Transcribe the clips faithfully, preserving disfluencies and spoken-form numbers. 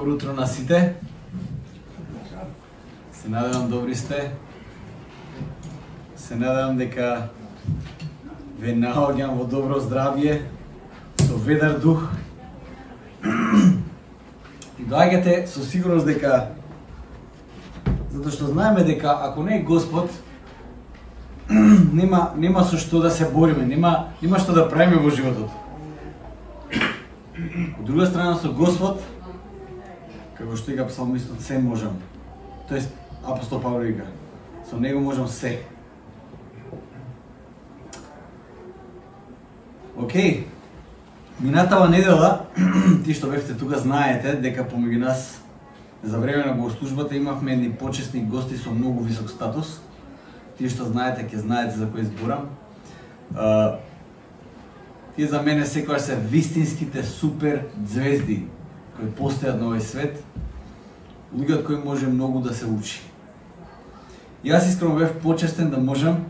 Добро утро на сите. Се надевам добри сте. Се надевам дека ве наоѓам во добро здравје, со ведар дух. И доаѓате со сигурност дека, затоа што знаеме дека ако не е Господ, нема нема со што да се бориме, нема нема што да правиме во животот. Од друга страна, со Господ, како што вика псалмистот, се можам. Тоест апостол Павле вика, со него можам се. Океј, минатава недела, ти што бевте тука знаете дека помеѓу нас за време на богослужбата имавме едни почесни гости со многу висок статус. Тие што знаете, ќе знаете за кој зборам. Uh, тие за мене секогаш се вистинските супер звезди кои постојат на овој свет, луѓе од кои може многу да се учи. Јас искрено бев почестен да можам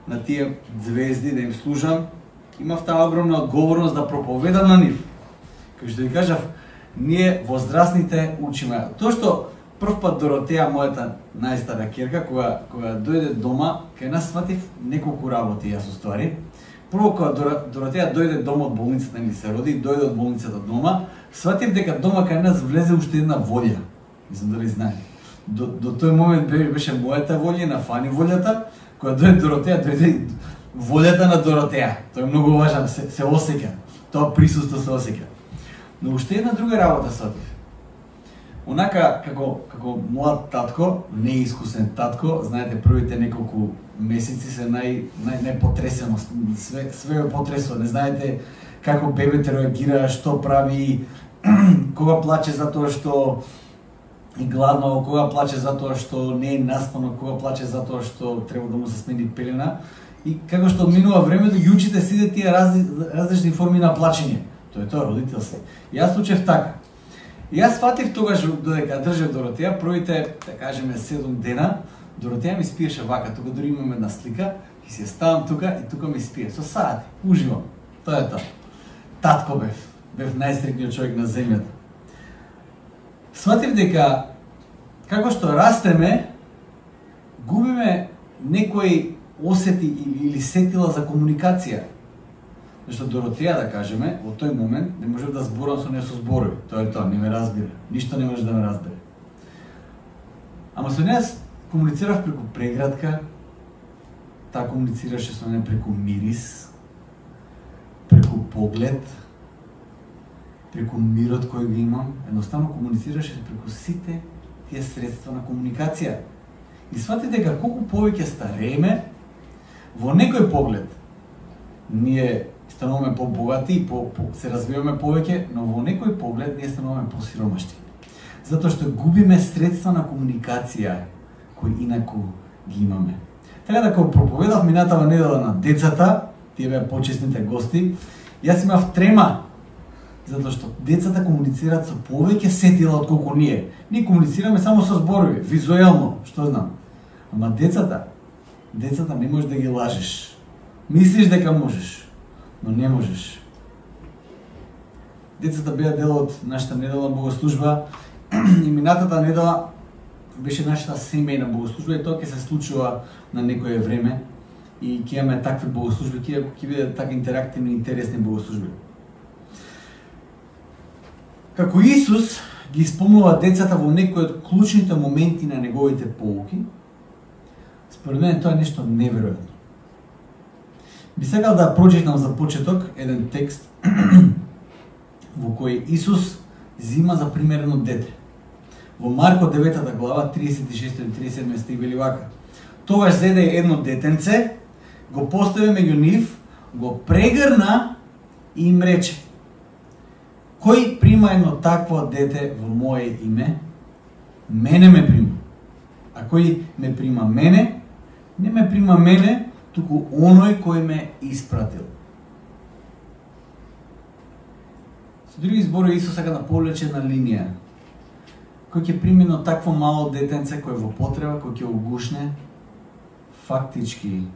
на тие звезди да им служам. Имав таа огромна одговорност да проповедам на нив. Како што ви кажав, ние возрастните учиме. Тоа што прв пат Доротеја, мојата најстара ќерка, кога кога дојде дома, кај нас сватив неколку работи јас уствари. Прво кога Доротеја дојде дома од болницата, ни се роди, дојде од болницата дома, сватив дека дома кај нас влезе уште една волја. Мислам дали знаете. До, до тој момент беше мојата волја, на Фани волјата, кога дојде Доротеја, дојде волјата на Доротеја. Тоа е многу важно, се, се осеќа. Тоа присуство се осеќа. Но уште една друга работа сватив. Онака како како млад татко, неискусен татко, знаете, првите неколку месеци се нај нај најпотресено, све све е потресо, не знаете како бебето реагира, што прави, кога плаче затоа што е гладно, кога плаче затоа што не е наспано, кога плаче затоа што треба да му се смени пелена. И како што минува времето, ги учите сите тие разли, различни форми на плачење. Тоа е тоа родителство. Јас учев така. Јас фатив тогаш додека држев Доротеја, првите, да кажеме, седум дена, Доротеја ми спиеше вака, тука дори имам една слика, и се ставам тука и тука ми спие. Со сати, уживам. Тоа е тоа. Татко бев, бев најстрикниот човек на земјата. Сватив дека, како што растеме, губиме некои осети или, или сетила за комуникација. Зашто Доротеја, да кажеме, во тој момент не можев да зборам со неја со зборови. Тоа е тоа, не ме разбира. Ништо не може да ме разбере. Ама со неја комуницирав преку прегратка, таа комуницираше со неја преку мирис, преку поглед, преку мирот кој го имам. Едноставно комуницираше преку сите тие средства на комуникација. И свати дека колку повеќе старееме, во некој поглед ние стануваме по-богати и по, по, се развиваме повеќе, но во некој поглед ние стануваме посиромашни. Затоа што губиме средства на комуникација кои инаку ги имаме. Така да кога проповедав минатава недела на децата, тие беа почесните гости, јас имав трема, затоа што децата комуницираат со повеќе сетила од колку ние. Ние комуницираме само со зборови, визуелно, што знам. Ама децата, децата не можеш да ги лажеш. Мислиш дека можеш, но не можеш. Децата беа дел од нашата недела богослужба и минатата недела беше нашата семејна богослужба и тоа ќе се случува на некое време и ќе имаме такви богослужби, ќе ќе бидат така интерактивни и интересни богослужби. Како Исус ги исполнува децата во некои од клучните моменти на неговите поуки, според мен тоа е нешто неверојатно. Би сакал да прочитам за почеток еден текст во кој Исус зима за примерно дете. Во Марко деветата глава, тридесет и шести до тридесет и седми стих вели вака: Тогаш зеде едно детенце, го постави меѓу нив, го прегрна и им рече: Кој прима едно такво дете во моје име, мене ме прима. А кој ме прима мене, не ме прима мене, туку оној кој ме испратил. Со други зборови, Исус сака да повлече една линија. Кој ќе прими едно такво мало детенце кој е во потреба, кој ќе го гушне, фактички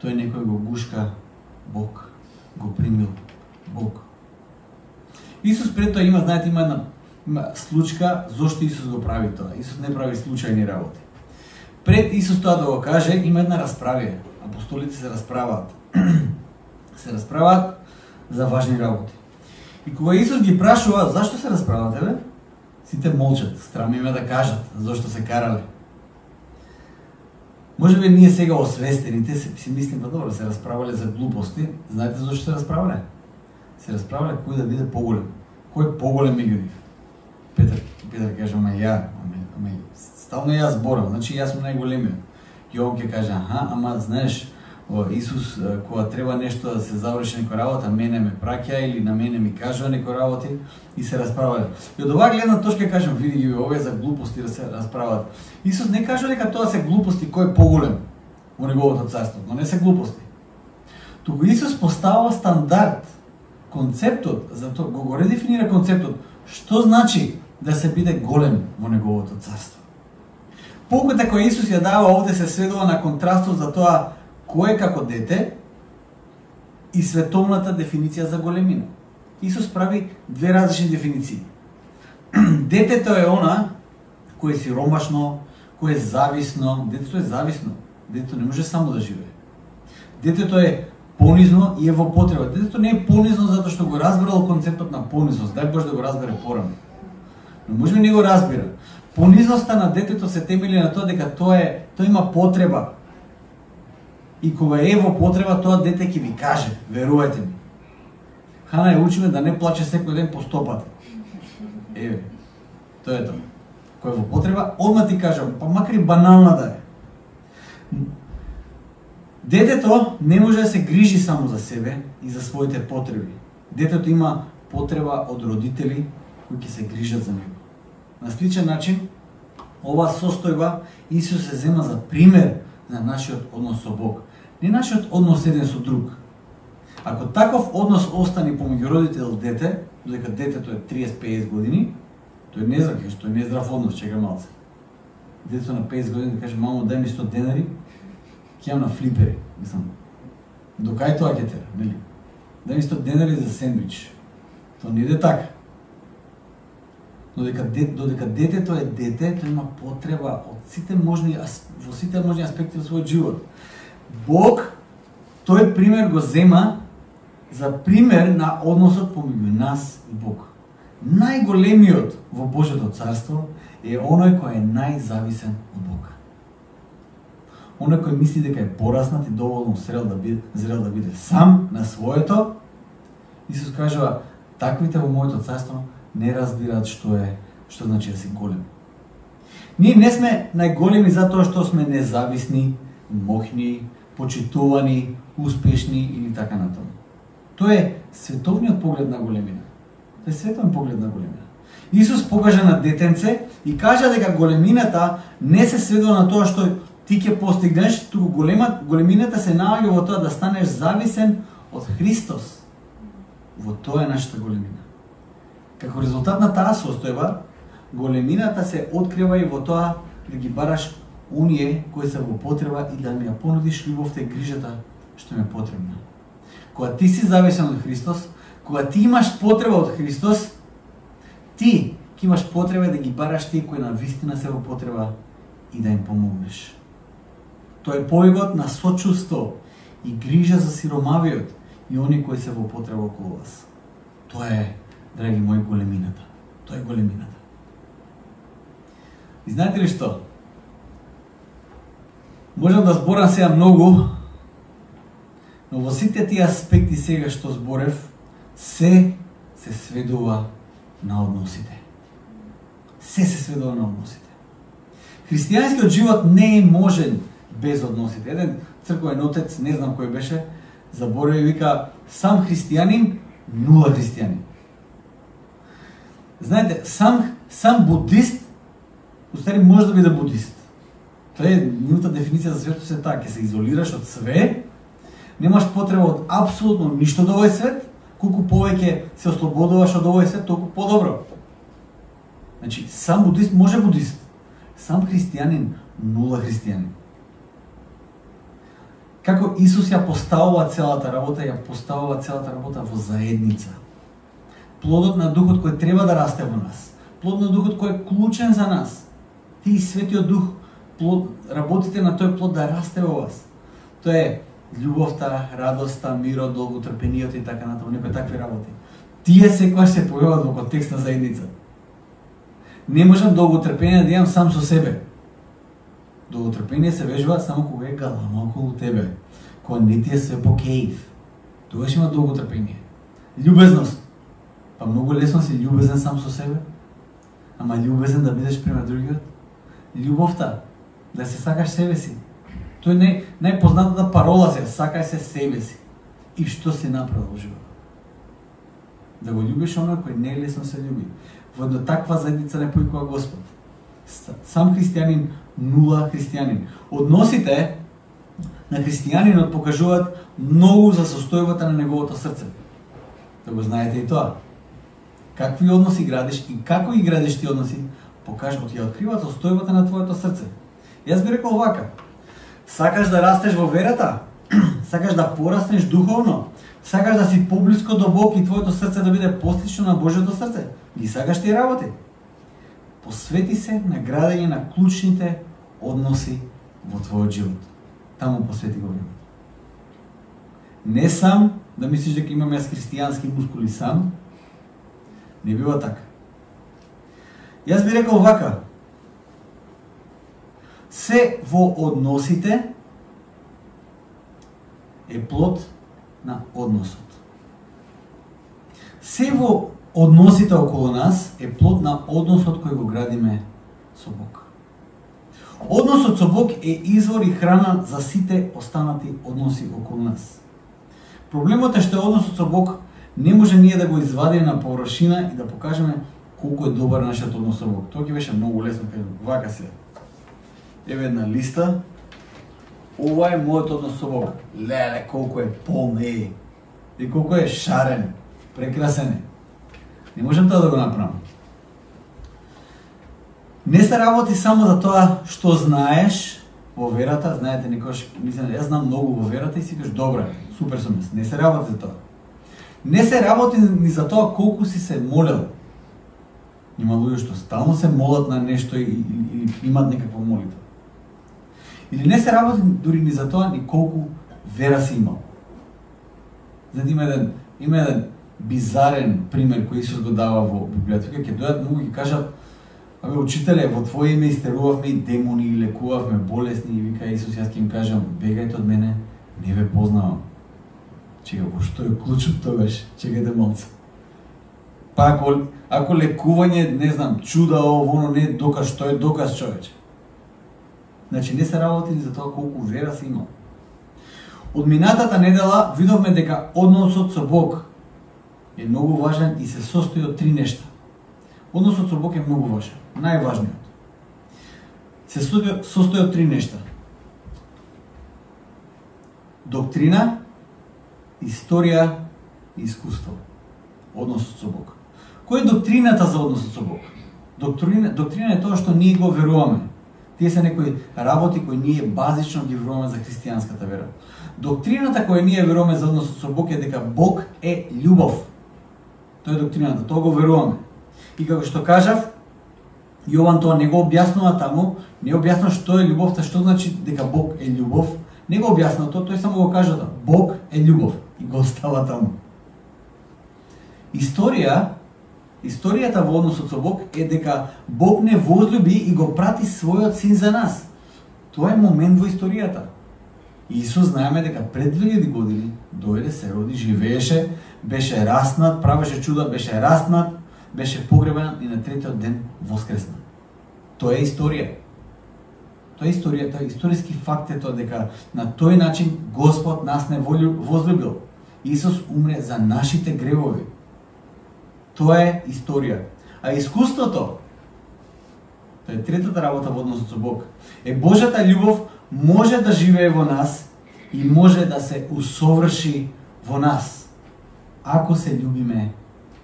тој некој го гушка Бог, го примил Бог. Исус пред тоа има, знаете, има една има случка зошто Исус го прави тоа. Исус не прави случајни работи. Пред Исус тоа да го каже, има една расправија. Апостолите се расправаат. се расправаат за важни работи. И кога Исус ги прашува зашто се расправате, бе? Сите молчат, страм им е да кажат зашто се карале. Може би ние сега освестените си мислим, па добро, се расправале за глупости. Знаете зашто се расправале? Се расправале кој да биде поголем. Кој е поголем меѓу нив? Петар, Петар каже, ама ја, ама, ама стално јас зборам, значи јас сум најголемиот. Јован ќе каже, аха, ама знаеш, о, Исус, кога треба нешто да се заврши некоја работа, мене ме праќа или на мене ми кажува некои работи и се расправале. И од оваа гледна точка кажам, види ги овие за глупости да се расправат. Исус не кажува дека тоа се глупости кој е поголем во неговото царство, но не се глупости. Туку Исус поставува стандард, концептот, затоа го го редефинира концептот, што значи да се биде голем во неговото царство. Поуката која Исус ја дава овде се сведува на контрастот за тоа кој е како дете и световната дефиниција за големина. Исус прави две различни дефиниции. Детето е она кој е сиромашно, кој е зависно. Детето е зависно. Детето не може само да живее. Детето е понизно и е во потреба. Детето не е понизно затоа што го разбирало концептот на понизност. Дај Боже да го разбере порано. Но може би не го разбира. Понизноста на детето се темели на тоа дека тоа е, тоа има потреба. И кога е во потреба, тоа дете ќе ви каже, верувајте ми. Хана ја учиме да не плаче секој ден по стопата. Еве, тоа е тоа. Кој е во потреба, одма ти кажам, па макар и банална да е. Детето не може да се грижи само за себе и за своите потреби. Детето има потреба од родители кои ќе се грижат за него. На сличен начин, ова состојба Исус се зема за пример на нашиот однос со Бог. Не нашиот однос еден со друг. Ако таков однос остане помеѓу родител и дете, додека детето е триесет до песет години, тој не здрав, тој не е здрав однос, чека малце. Детето на песет години да каже, мамо, дај ми сто денари, ќе јам на флипери. Мислам, до кај тоа ќе тера, нели? Дај ми сто денари за сендвич. Тоа не иде така. Додека, додека детето е дете, тој има потреба од сите можни, во сите можни аспекти во својот живот. Бог, тој пример го зема за пример на односот помеѓу нас и Бог. Најголемиот во Божјото царство е оној кој е најзависен од Бога. Оној кој мисли дека е пораснат и доволно зрел да биде, зрел да биде сам на своето, Исус кажува, таквите во моето царство не разбираат што е, што значи да си голем. Ние не сме најголеми затоа што сме независни, мохни, почитувани, успешни или така натаму. Тоа е световниот поглед на големина. Тоа е световен поглед на големина. Исус покажа на детенце и кажа дека големината не се сведува на тоа што ти ќе постигнеш, туку голема, големината се наоѓа во тоа да станеш зависен од Христос. Во тоа е нашата големина. Како резултат на таа состојба, големината се открива и во тоа да ги бараш оние кои се во потреба и да ми ја понудиш љубовта и грижата што ми е потребна. Кога ти си зависен од Христос, кога ти имаш потреба од Христос, ти ќе имаш потреба да ги бараш тие кои навистина се во потреба и да им помогнеш. Тоа е повикот на сочувство и грижа за сиромавиот и оние кои се во потреба околу вас. Тоа е, драги мои, големината. Тоа е големината. И знаете ли што? Можам да зборам сега многу, но во сите тие аспекти сега што зборев, се се сведува на односите. Се се сведува на односите. Христијанскиот живот не е можен без односите. Еден црковен отец, не знам кој беше, заборави, вика, сам христијанин, нула христијанин. Знаете, сам, сам будист, устари може да биде будист. Тоа е нивната дефиниција за светот, е така, ќе се изолираш од све, немаш потреба од апсолутно ништо од овој свет, колку повеќе се ослободуваш од овој свет, толку подобро. Значи, сам будист може будист, сам христијанин, нула христијанин. Како Исус ја поставува целата работа, ја поставува целата работа во заедница. Плодот на Духот кој треба да расте во нас, плод на Духот кој е клучен за нас. Ти и Светиот Дух плод, работите на тој плод да расте во вас. Тоа е љубовта, радоста, мирот, долготрпениот и така натаму, некои такви работи. Тие секогаш се појават во контекст на заедница. Не можам долготрпение да имам сам со себе. Долготрпение се вежба само кога е галама околу тебе, кога не ти е све по кејф. Тогаш има долготрпение. Љубезност. Па многу лесно си љубезен сам со себе, ама љубезен да бидеш према другиот. Љубовта, да се сакаш себе си. Тоа е нај, најпознатата парола се, сакај се себе си. И што си направил во животот? Да го љубиш оној кој не е лесно се љуби. Во една таква заедница не поикува Господ. Сам христијанин, нула христијанин. Односите на христијанинот покажуваат многу за состојбата на неговото срце. Да го знаете и тоа. Какви односи градиш и како ги градиш ти односи, покажуваат и откриваат состојбата на твоето срце. Јас би рекол вака: сакаш да растеш во верата? Сакаш да пораснеш духовно? Сакаш да си поблиско до Бог и твоето срце да биде послично на Божјото срце? Ги сакаш тие работи? Посвети се на градење на клучните односи во твојот живот. Таму посвети го време. Не сам да мислиш дека имам јас христијански мускули сам. Не бива така. Јас би рекол вака: се во односите е плод на односот. Се во односите околу нас е плод на односот кој го градиме со Бог. Односот со Бог е извор и храна за сите останати односи околу нас. Проблемот е што односот со Бог не може ние да го извадиме на површина и да покажеме колку е добар нашиот однос со Бог. Тоа ќе беше многу лесно, кажам, вака се. Еве една листа. Ова е мојот однос со Бог. Леле, колку е полн е. И колку е шарен, прекрасен е. Не можам тоа да го направам. Не се работи само за тоа што знаеш во верата. Знаете, некојаш мислам, јас знам многу во верата и си кажеш, добре, супер сум. Не се работи за тоа. Не се работи ни за тоа колку си се молел. Има луѓе што стално се молат на нешто или имат некаква молитва. Или не се работи дури ни за тоа ни колку вера си имал. Знаете, има еден, има еден бизарен пример кој Исус го дава во Библијата. Ќе дојдат многу и кажат: абе, учителе, во твое име истерувавме и демони, и лекувавме болесни, и вика Исус, јас ќе им кажам: бегајте од мене, не ве познавам. Чека, во што е клучот тогаш? Чекајте малце. Па ако, ако лекување, не знам, чуда, ово, не е доказ, што е доказ, човече? Значи, не се работи за тоа колку вера си имал. Од минатата недела видовме дека односот со Бог е многу важен и се состои од три нешта. Односот со Бог е многу важен. Најважниот. Се состои од три нешта. Доктрина, историја и искуство. Односот со Бог. Кој е доктрината за односот со Бог? Доктрина, доктрина е тоа што ние го веруваме. Тие се некои работи кои ние базично ги веруваме за христијанската вера. Доктрината која ние веруваме за односот со Бог е дека Бог е љубов. Тоа е доктрината, тоа го веруваме. И како што кажав, Јован тоа не го објаснува таму, не објаснува што е љубовта, што значи дека Бог е љубов, не го објаснува тоа, тој само го кажа да Бог е љубов и го остава таму. Историја, историјата во односот со Бог е дека Бог не возлюби и го прати својот син за нас. Тоа е момент во историјата. Исус знаеме дека пред две илјади години дојде, се роди, живееше, беше раснат, правеше чуда, беше раснат, беше погребан и на третиот ден воскресна. Тоа е историја. Тоа е историја, тоа е историски факт е тоа дека на тој начин Господ нас не возлюбил. Исус умре за нашите гревови. Тоа е историја. А искуството, тоа е третата работа во односот со Бог, е Божјата љубов може да живее во нас и може да се усоврши во нас, ако се љубиме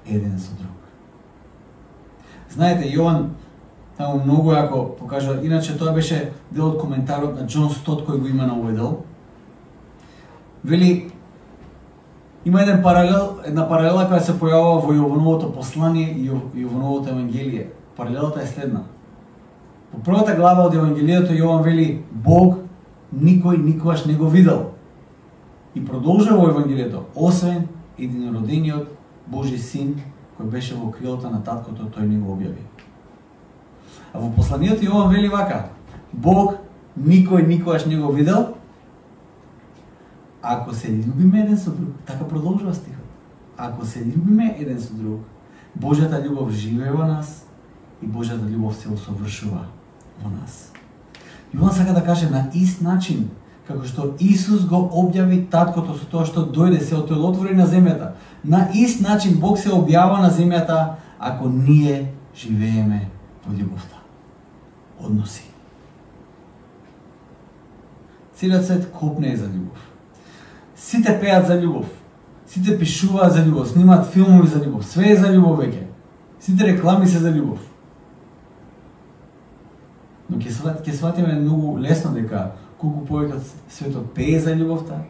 еден со друг. Знаете, Јован таму многу јако покажа, иначе тоа беше дел од коментарот на Џон Стот кој го има на овој дел. Вели, има еден паралел, една паралела која се појавува во Јовановото послание и Јовановото евангелие. паралелата е следна. По првата глава од Евангелието Јован вели Бог никој никогаш не го видел. И продолжува во Евангелието, освен единородениот Божи син кој беше во крилото на таткото, тој не го објави. А во посланието Јован вели вака: Бог никој никогаш не го видел. Ако се љубиме еден со друг, така продолжува стихот. Ако се љубиме еден со друг, Божјата љубов живее во нас и Божјата љубов се усовршува во нас. Јован сака да каже на ист начин како што Исус го објави таткото со тоа што дојде, се отелотвори на земјата. На ист начин Бог се објава на земјата ако ние живееме во љубовта. Односи. Целиот свет копне за љубов. Сите пеат за ljubов. Сите пишуваат за љубов, снимаат филмови за љубов. Све е за љубов веќе. Сите реклами се за љубов. Но ќе ќе сватиме многу лесно дека колку повеќе светот пее за љубовта,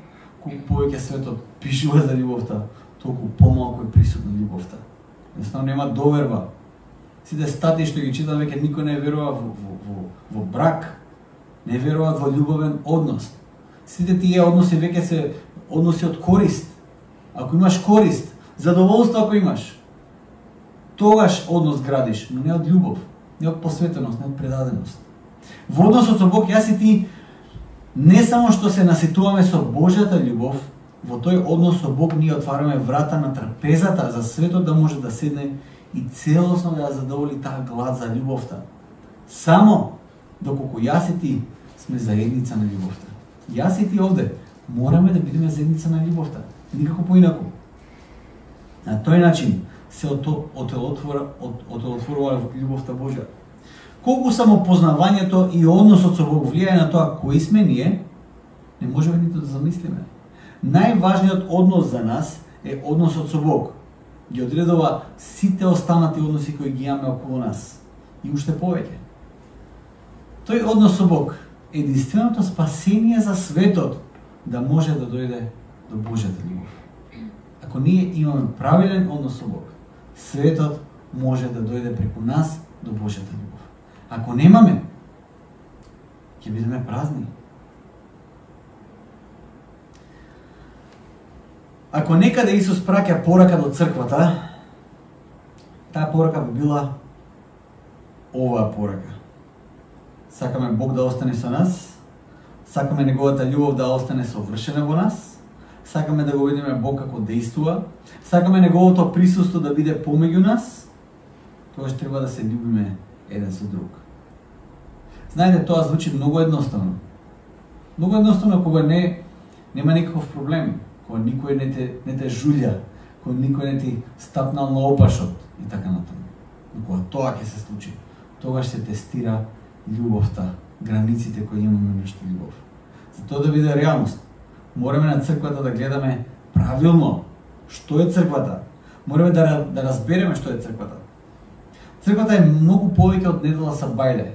колку повеќе светот пишува за љубовта, толку помалку е присутна љубовта. Едноставно нема доверба. Сите статии што ги читам веќе никој не верува во, во, во, во брак, не веруваат во љубовен однос. Сите тие односи веќе се односи од корист. Ако имаш корист, задоволство ако имаш, тогаш однос градиш, но не од љубов, не од посветеност, не од предаденост. Во односот со Бог, јас и ти не само што се наситуваме со Божјата љубов, во тој однос со Бог ние отвараме врата на трпезата за светот да може да седне и целосно да задоволи таа глад за љубовта. Само доколку јас и ти сме заедница на љубовта. Јас и ти овде мораме да бидеме заедница на љубовта. Никако поинаку. На тој начин се отелотворува љубовта Божја. Колку самопознавањето и односот со Бог влијае на тоа кои сме ние, не можеме ниту да замислиме. Најважниот однос за нас е односот со Бог. Ги одредува сите останати односи кои ги имаме околу нас. И уште повеќе. Тој однос со Бог е единственото спасение за светот да може да дојде до Божјата љубов. Ако ние имаме правилен однос со Бог, светот може да дојде преку нас до Божјата љубов. Ако немаме, ќе бидеме празни. Ако некаде Исус праќа порака до црквата, таа порака би била оваа порака. Сакаме Бог да остане со нас, сакаме неговата љубов да остане совршена во нас, сакаме да го видиме Бог како действува, сакаме неговото присуство да биде помеѓу нас, тогаш треба да се љубиме еден со друг. Знаете, тоа звучи многу едноставно. Многу едноставно кога не нема никаков проблем, кога никој не те не те жулја, кога никој не ти стапнал на опашот и така натаму. Но кога тоа ќе се случи, тогаш се тестира љубовта, границите кои имаме меѓу љубов. За тоа да биде реалност, мораме на црквата да гледаме правилно што е црквата. Мораме да да разбереме што е црквата. Црквата е многу повеќе од недела са бајле.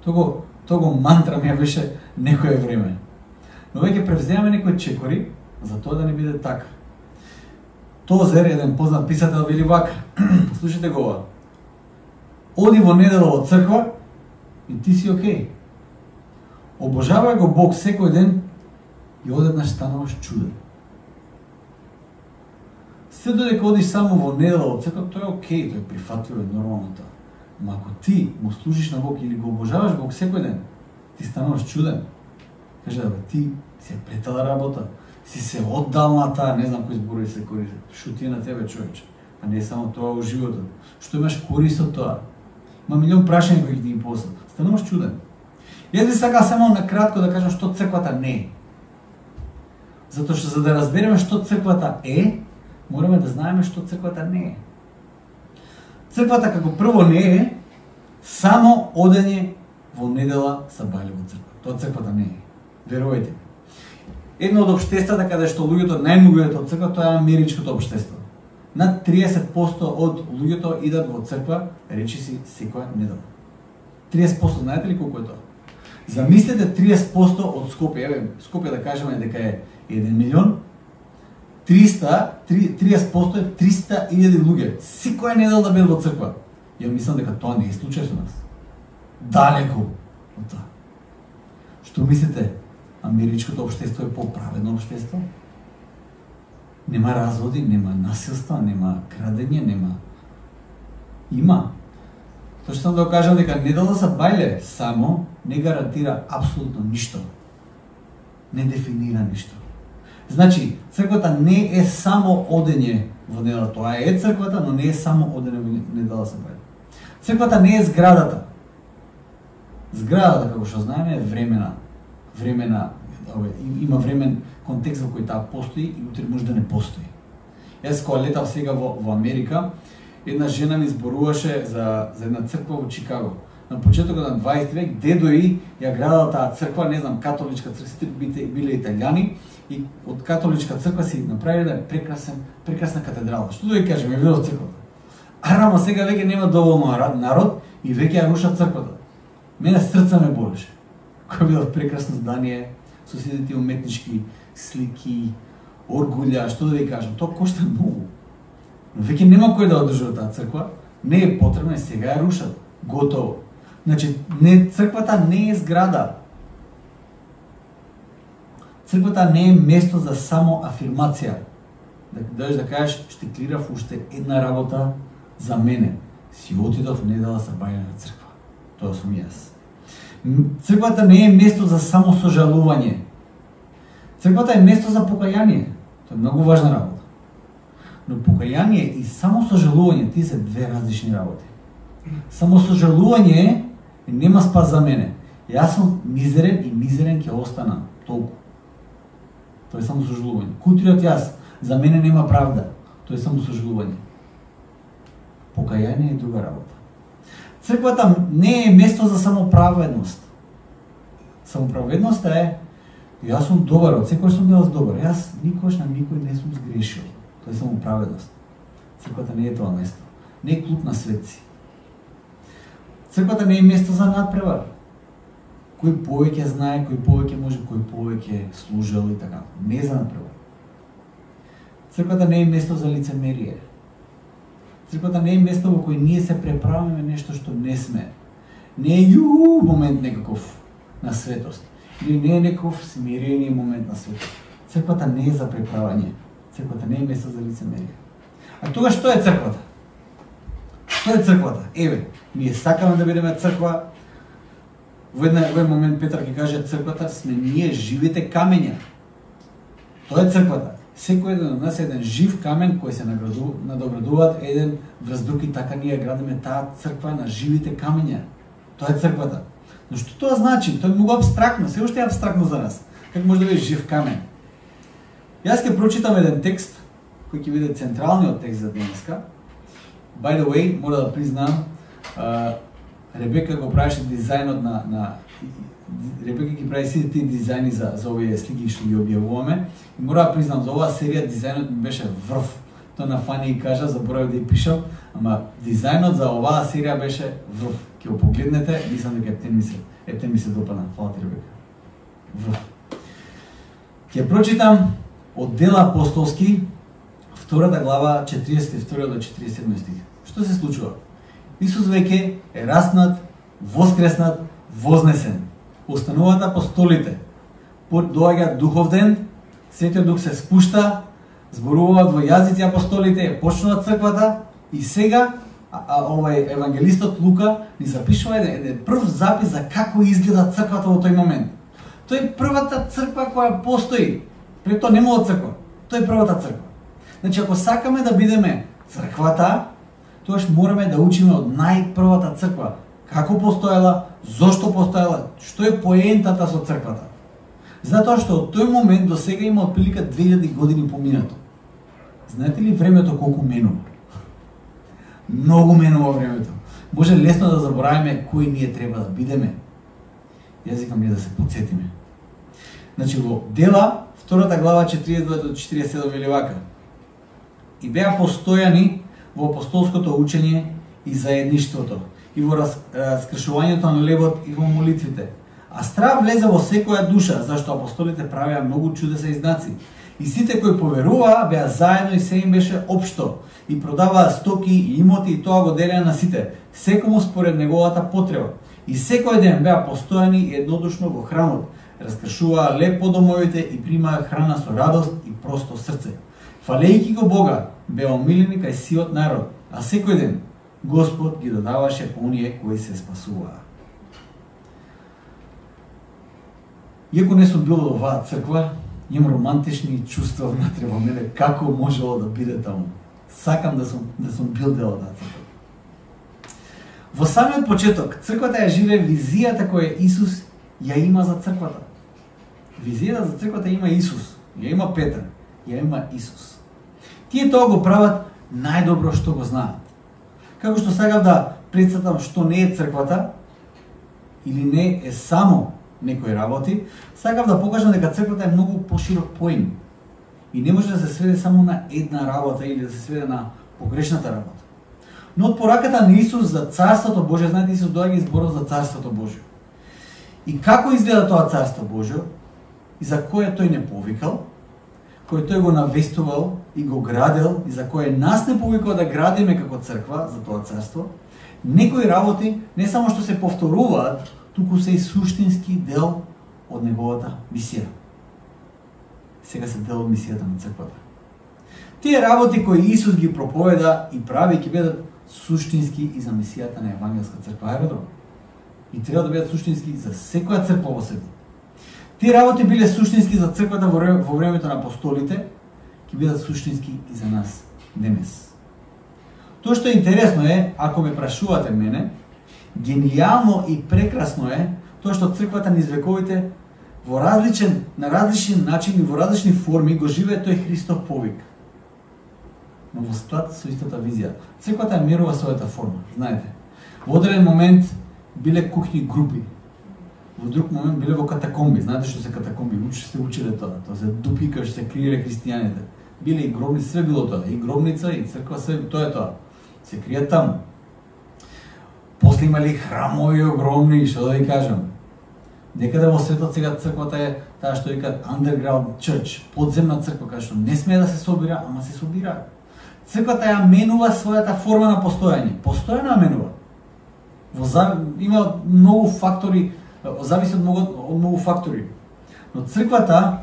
Того того мантра ми беше некое време. Но веќе превземаме некои чекори за тоа да не биде така. Тозер, еден познат писател, вели вака. Слушайте го ова. Оди во недела во црква и ти си окей. Обожавај го Бог секој ден и одеднаш стануваш чуден. Се додека одиш само во недела во црква, тоа е окей, тоа е прифатливо и нормално тоа. Ма ако ти му служиш на Бог или го обожаваш Бог секој ден, ти стануваш чуден. Каже да бе, ти си е плетала работа, си се оддал на таа, не знам кои зборови се користат. Што ти е на тебе, човече? А не само тоа во животот. Што имаш корист од тоа? Ма милион прашања кои ти ги посат. Стануваш чуден. Јас би сакал само на кратко да кажам што црквата не е. Затоа што за да разбереме што црквата е, мораме да знаеме што црквата не е. Црквата како прво не е само одење во недела са бајле во црква. Тоа црквата не е. Верувајте. Едно од општествата каде што луѓето најмногу идат од црква, тоа е америчкото општество. Над триесет проценти од луѓето идат во црква, речиси секоја недела. триесет проценти, знаете ли колку е тоа? Замислете триесет проценти од Скопје, еве, Скопје да кажеме дека е еден милион, триста, триесет проценти е триста илјади луѓе. Секоја недела да бидат во црква. Ја мислам дека тоа не е случај со нас. Далеку од тоа. Што мислите? Америчкото општество е поправедно општество? Нема разводи, нема насилство, нема крадење, нема... Има. Тоа што сам да кажам дека недела за бајле само не гарантира апсолутно ништо. Не дефинира ништо. Значи, црквата не е само одење во недела, тоа е црквата, но не е само одење во недела за бајле. Црквата не е зградата. Зградата, како што знаеме, е времена. Времена, има времен контекст во кој таа постои и утре може да не постои. Јас кога летав сега во, во Америка, една жена ми зборуваше за, за една црква во Чикаго. На почетокот на дваесети век, дедо и ја градала таа црква, не знам, католичка црква, сите биле италијани, и од католичка црква си направиле прекрасен, прекрасна катедрала. Што да ви кажем, е видов црквата. Арама сега веќе нема доволно народ и веќе ја рушат црквата. Мене срца ме болеше. Кој било прекрасно здание, со сите тие уметнички слики, оргулја, што да ви кажам, тоа кошта многу. Но веќе нема кој да одржува таа црква, не е потребна и сега ја рушат. Готово. Значи, не, црквата не е зграда. Црквата не е место за само афирмација. Да дадеш да кажеш, штеклирав уште една работа за мене. Си отидов недела са бајле на црква. Тоа сум јас. Црквата не е место за само сожалување. Црквата е место за покаяние. Тоа е многу важна работа. Но покаяние и само сожалување, тие се две различни работи. Само сожалување нема спас за мене. Јас сум мизерен и мизерен ќе остана. Толку. Тоа е само сожалување. Кутриот јас, за мене нема правда. Тоа е само сожалување. Покаяние е друга работа. Црквата не е место за самоправедност. Самоправедноста е јас сум добар, од секој сум бил добар. Јас никош на никој не сум сгрешил. Тоа е самоправедност. Црквата не е тоа место. Не е клуб на светци. Црквата не е место за надпревар. Кој повеќе знае, кој повеќе може, кој повеќе служел и така. Не е за надпревар. Црквата не е место за лицемерие. Црквата не е место во кој ние се преправиме нешто што не сме. Не е ју момент некаков на светост. Или не е некаков смирени момент на светост. Црквата не е за преправање. Црквата не е место за лицемерие. А тога што е црквата? Што е црквата? Еве, ние сакаме да бидеме црква. Во еден момент Петар ќе каже црквата сме ние живите камења. Тоа е црквата. Секој еден од нас е еден жив камен кој се надоградуваат еден врз друг и така ние градиме таа црква на живите камења. Тоа е црквата. Но што тоа значи? Тоа е многу абстрактно, се уште е абстрактно за нас. Како може да биде жив камен? Јас ќе прочитам еден текст кој ќе биде централниот текст за денеска. By the way, мора да признам, uh, Ребека го правеше дизајнот на, на Ребека ги прави сите тие дизајни за, за овие слики што ги објавуваме. И мора да признам, за оваа серија дизајнот ми беше врв. Тоа на Фани и кажа, заборавив да ја пишам, ама дизајнот за оваа серија беше врв. Ќе го погледнете, мислам дека ептен ми се, ептен ми се допадна. Фала ти, Ребека. Врв. Ќе прочитам од Дела апостолски, втората глава, четиридесет и втори до четиридесет и седми стих. Што се случува? Исус веќе е раснат, воскреснат, вознесен. Остануваат апостолите. Доаѓа духов ден, Светиот Дух се спушта, зборуваат во јазици апостолите, почнува црквата и сега а, а, овај евангелистот Лука ни запишува еден, еден прв запис за како изгледа црквата во тој момент. Тој е првата црква која постои. Пред тоа нема црква. Тој е првата црква. Значи, ако сакаме да бидеме црквата, тогаш мораме да учиме од најпрвата црква. Како постоела, зошто постоела, што е поентата со црквата. Затоа што од тој момент до сега има отприлика две илјади години поминато. Знаете ли времето колку менува? Многу менува времето. Може лесно да забораваме кои ние треба да бидеме. Јас викам ние да се потсетиме. Значи во Дела, втората глава, четиридесет и две до четиридесет и седум вели вака. И беа постојани во апостолското учење и заедништвото, и во раскршувањето на лебот и во молитвите. А страв влезе во секоја душа, зашто апостолите правеа многу чудеса и знаци. И сите кои поверуваа беа заедно и се им беше општо. И продаваа стоки и имоти и тоа го делеа на сите, секому според неговата потреба. И секој ден беа постојани и еднодушно во храмот, раскршуваа леп по домовите и примаа храна со радост и просто срце. Фалејќи го Бога, беа омилени кај сиот народ, а секој ден Господ ги додаваше по оние кои се спасуваа. Иако не сум бил во оваа црква, имам романтични чувства внатре во мене како можело да биде таму. Сакам да сум да сум бил дел од таа црква. Во самиот почеток, црквата ја живее визијата која Исус ја има за црквата. Визијата за црквата има Исус, ја има Петар, ја има Исус. Тие тоа го прават најдобро што го знаат. Како што сакам да претставам што не е црквата, или не е само некои работи, сакам да покажам дека црквата е многу поширок поим. И не може да се сведе само на една работа или да се сведе на погрешната работа. Но од пораката на Исус за Царството Божие, знаете, Исус доаѓа и зборува за Царството Божие. И како изгледа тоа Царство Божие, и за кое тој не повикал, кој тој го навестувал и го градел, и за кое нас не повикал да градиме како црква за тоа Царство, некои работи не само што се повторуваат, туку се и суштински дел од неговата мисија. Сега се дел од мисијата на црквата. Тие работи кои Исус ги проповеда и прави ќе бидат суштински и за мисијата на Евангелска црква Аеродром. И треба да бидат суштински за секоја црква во светот. Тие работи биле суштински за црквата во времето на апостолите, ќе бидат суштински и за нас денес. Тоа што е интересно е, ако ме прашувате мене, генијално и прекрасно е тоа што црквата низ вековите во различен, на различни начини, во различни форми го живее тој Христов повик. Но во склад со истата визија. Црквата ја мерува својата форма, знаете. Во одреден момент биле кухни групи. Во друг момент биле во катакомби. Знаете што се катакомби? Учи се училе тоа. Тоа се дупи кај што се криеле христијаните. Биле и гробници, све било тоа. И гробница, и црква, све тоа е тоа. Се кријат таму. После имали храмови огромни, што да ви кажам. Некаде во светот сега црквата е таа што викаат underground church, подземна црква, кај што не смее да се собира, ама се собира. Црквата ја менува својата форма на постојање. Постојано ја менува. Во за... има многу фактори, зависи од многу, од многу фактори. Но црквата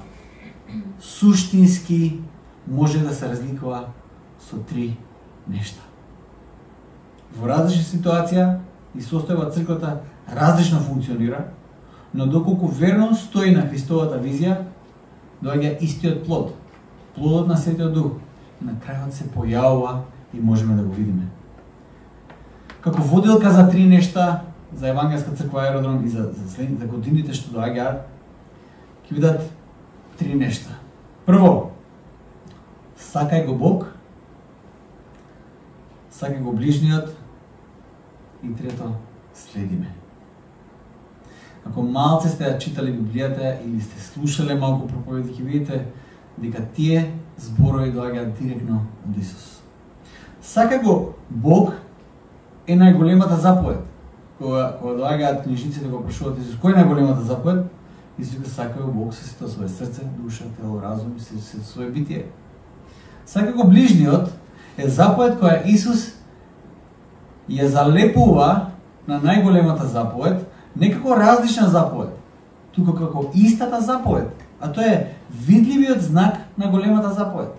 суштински може да се разликува со три нешта. Во различна ситуација и состојба црквата различно функционира, но доколку верно стои на Христовата визија, доаѓа истиот плод, плодот на Светиот Дух. На крајот се појавува и можеме да го видиме. Како воделка за три нешта за Евангелска црква Аеродром и за, за следните годините што доаѓаат, ќе видат три нешта. Прво, сакај го Бог, сакај го ближниот и трето, следиме. Ако малце сте ја читали Библијата или сте слушале малку проповеди, ќе видите дека тие зборови доаѓаат директно од Исус. Сакај го Бог е најголемата заповед. Кога, кога доаѓаат книжниците го прашуваат Исус, кој е најголемата заповед? Исус вика, сакај го Бог со сето своје срце, душа, тело, разум и со сето своје битие. Сакај го ближниот е заповед која Исус ја залепува на најголемата заповед, не како различна заповед, туку како истата заповед, а тоа е видливиот знак на големата заповед.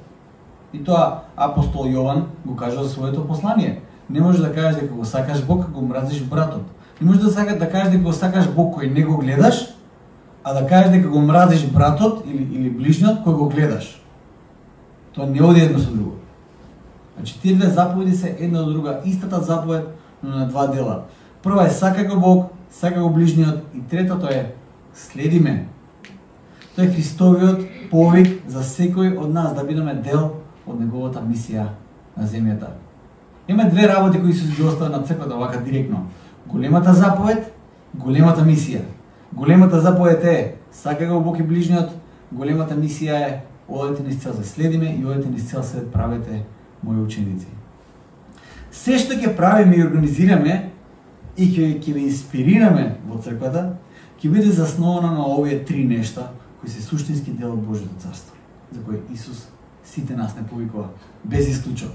И тоа апостол Јован го кажа за своето послание. Не можеш да кажеш дека го сакаш Бог, ако го мразиш братот. Не можеш да сакаш да кажеш дека го сакаш Бог кој не го гледаш, а да кажеш дека го мразиш братот или или ближниот кој го гледаш. Тоа не оди едно со друго. Значи тие две заповеди се една од друга, истата заповед, но на два дела. Прва е сакај го Бог, сакај го ближниот и третото е следиме. Тоа е Христовиот повик за секој од нас да бидеме дел од неговата мисија на земјата. Има две работи кои Исус ги остави на црквата вака директно. Големата заповед, големата мисија. Големата заповед е сакај го Бог и ближниот, големата мисија е одете низ цел свет, следиме и одете низ цел свет, правете мои ученици. Се што ќе правиме и организираме и ќе ќе ве инспирираме во црквата, ќе биде засновано на овие три нешта кои се суштински дел од Божјото царство. за кој Исус сите нас не повикува, без исклучок.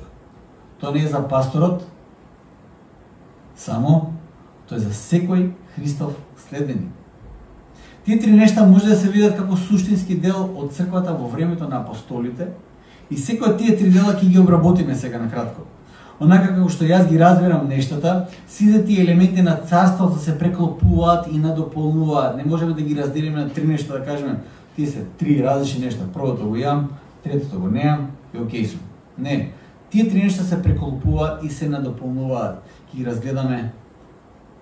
Тоа не е за пасторот, само тоа е за секој Христов следбеник. Тие три нешта може да се видат како суштински дел од црквата во времето на апостолите и секој од тие три дела ќе ги обработиме сега на кратко. Онака како што јас ги разбирам нештата, сите тие елементи на царството се преклопуваат и надополнуваат. Не можеме да ги разделиме на три нешта, да кажеме, тие се три различни нешта. Првото го имам, третото го неам и окей сум. Не, тие три нешта се преклопуваат и се надополнуваат. Ќе ги разгледаме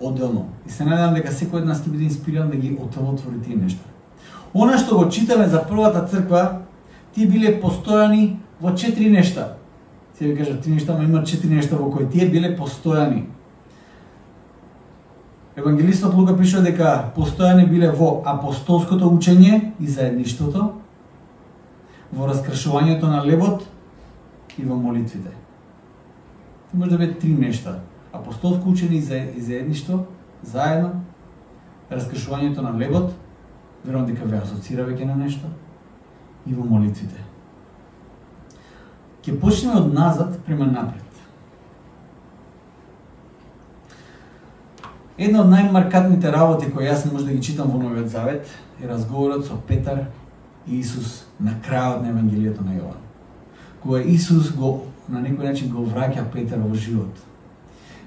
одделно. И се надевам дека секој од нас ќе биде инспириран да ги отвори тие нешта. Она што го читаме за првата црква, тие биле постојани во четири нешта. Се ви кажа три нешта, но има четири нешта во кои тие биле постојани. Евангелистот Лука пишува дека постојани биле во апостолското учење и заедништвото, во раскршувањето на лебот и во молитвите. Може да биде три нешта. Апостолско учење и заедништво, заедно, раскршувањето на лебот, верувам дека ве асоцира веќе на нешто, и во молитвите. Ќе почнеме од назад према напред. Една од најмаркантните работи кои јас може да ги читам во Новиот Завет е разговорот со Петар и Исус на крајот на Евангелието на Јован. Кога Исус го на некој начин го враќа Петар во живот.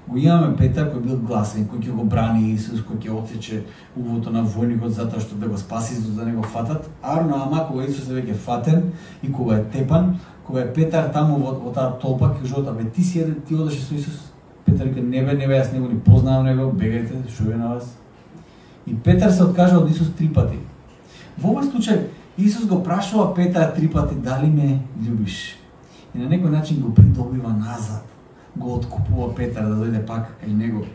Го имаме Петар кој бил гласен, кој ќе го брани Исус, кој ќе отсече увото на војникот затоа што да го спаси, за да не го фатат. Арно ама кога Исус е веќе фатен и кога е тепан, кога е Петар таму во, во таа толпа, ќе кажува, бе ти си еден, ти одеше со Исус. Петар ке не бе, не бе, јас него ни познавам него, бегајте, шо е на вас. И Петар се откажа од Исус три пати. Во овој случај Исус го прашува Петар три пати дали ме љубиш. И на некој начин го придобива назад, го откупува Петар да дојде пак кај него.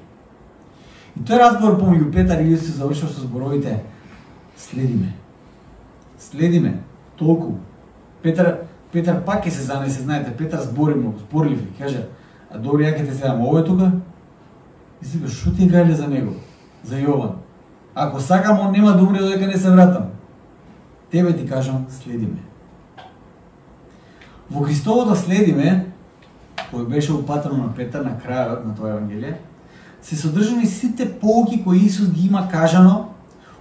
И тој разговор помеѓу Петар и Исус завршува со зборовите: следиме. Следиме, толку. Петар Петар пак ќе се занесе, знаете, Петар збори многу, зборлив, каже: а добро, ја ќе те седам овој тука? И си кажа, шо ти гајле за него, за Јован? Ако сакам, он нема да умре додека не се вратам. Тебе ти кажам, следиме. Во Христовото следиме, кој беше упатено на Петар на крајот на тоа Евангелие, се содржани сите поуки кои Исус ги има кажано,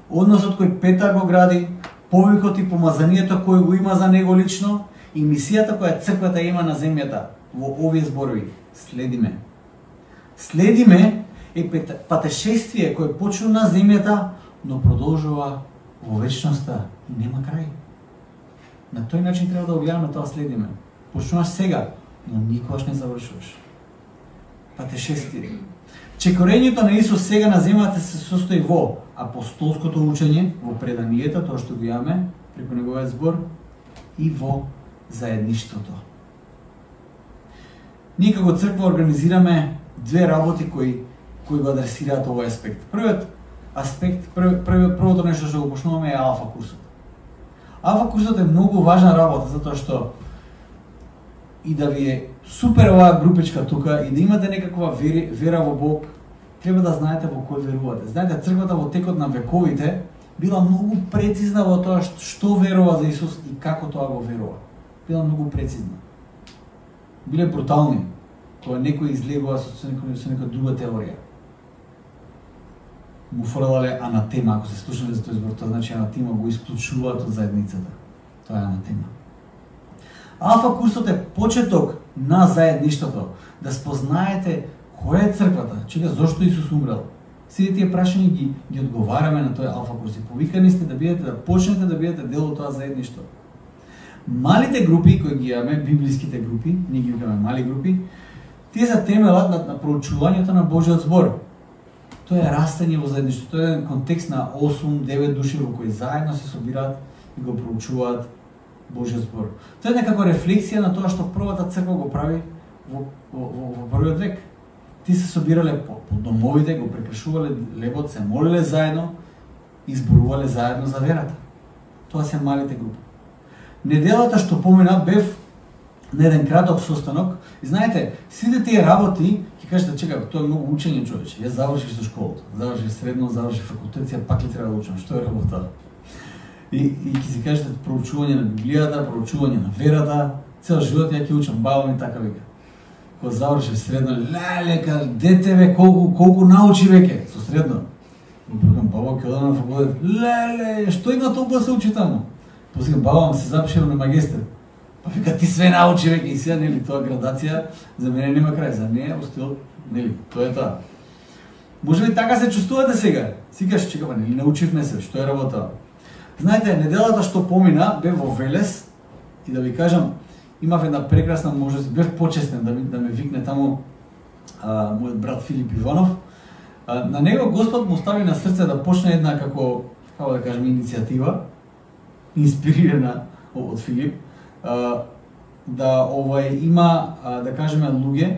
односот кој Петар го гради, повикот и помазанието кој го има за него лично и мисијата која црквата има на земјата во овие зборови. Следиме. Следиме е патешествие кој почна на земјата, но продолжува во вечноста и нема крај. На тој начин треба да го гледаме тоа следиме. Почнуваш сега, но никогаш не завршуваш. Патешествие. Чекорењето на Исус сега на земјата се состои во апостолското учење, во преданието, тоа што го имаме преку неговиот збор, и во заедништвото. Ние како црква организираме две работи кои кои го адресираат овој аспект. Првиот аспект, прв, прв, првото нешто што го почнуваме е алфа курсот. Алфа курсот е многу важна работа затоа што и да ви е супер оваа групичка тука и да имате некаква вери, вера во Бог, треба да знаете во кој верувате. Знаете, црквата во текот на вековите била многу прецизна во тоа што, што верува за Исус и како тоа го верува. Била многу прецизна. Биле брутални, кога некој излегува со некоја друга теорија. Му фрлале анатема, ако се слушнале за тој збор, тоа значи анатема го исклучуваат од заедницата. Тоа е анатема. Алфа курсот е почеток на заедништвото, да спознаете која е црквата, чека зошто Исус умрел. Сите тие прашања ги ги одговараме на тој алфа курс и повикани сте да бидете да почнете да бидете дел од тоа заедништво. Малите групи кои ги имаме, библиските групи, ние ги имаме мали групи, тие се темелат на, на проучувањето на Божиот збор. Тоа е растење во заедништво, тоа е контекст на осум девет души во кои заедно се собираат и го проучуваат Божиот збор. Тоа е некако рефлексија на тоа што првата црква го прави во, во, во, во првиот век. Ти се собирале по, по домовите, го прекршувале лебот, се молеле заедно и зборувале заедно за верата. Тоа се малите групи. Неделата што помина бев на еден краток состанок и знаете, сите тие работи, ќе кажете, чека, тоа е многу учење, човече. Јас завршив со школата, завршив средно, завршив факултет, па пак ли треба да учам, што е работа? И, и ќе си кажете проучување на Библијата, проучување на верата, цел живот ја ќе учам, баба ми така вика. Кога завршив средно, леле, ка дете бе, колку, колку научи веќе, со средно. И викам, баба, ќе одам на факултет, леле, што има толку да се учи таму? После баба се запишила на магистер. Па вика, ти све научи веќе и сега, нели, тоа градација, за мене нема крај, за неја остил, нели, тоа е тоа. Може би така се чувствувате сега? Сикаш, чека, нели, научивме се, што е работа. Знаете, неделата што помина, бев во Велес и да ви кажам, имав една прекрасна можност, бев почестен да, ми, да ме викне таму а, мојот брат Филип Иванов. А, на него Господ му стави на срце да почне една, како, како да кажем, иницијатива, инспирирана од Филип, а, да овај има, а, да кажеме, луѓе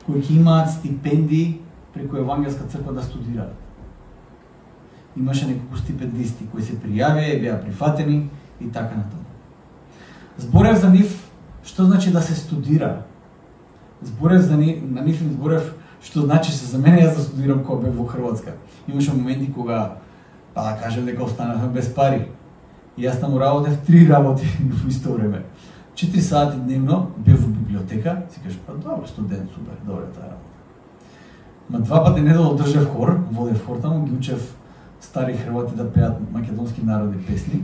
кои ќе имаат стипендии преку Евангелска црква да студираат. Имаше неколку стипендисти кои се пријавија, беа прифатени и така натаму. Зборев за нив што значи да се студира. Зборев за нив, на нив им зборев што значи се за мене јас да студирам кога бев во Хрватска. Имаше моменти кога, па да кажем дека останавме без пари. И јас таму работев три работи во исто време. Четири сати дневно бев во библиотека, си кажеш, па добро, студент, супер, добро е таа работа. Ма два пати неделно држев хор, водев хор таму, ги учев стари хрвати да пеат македонски народни песни.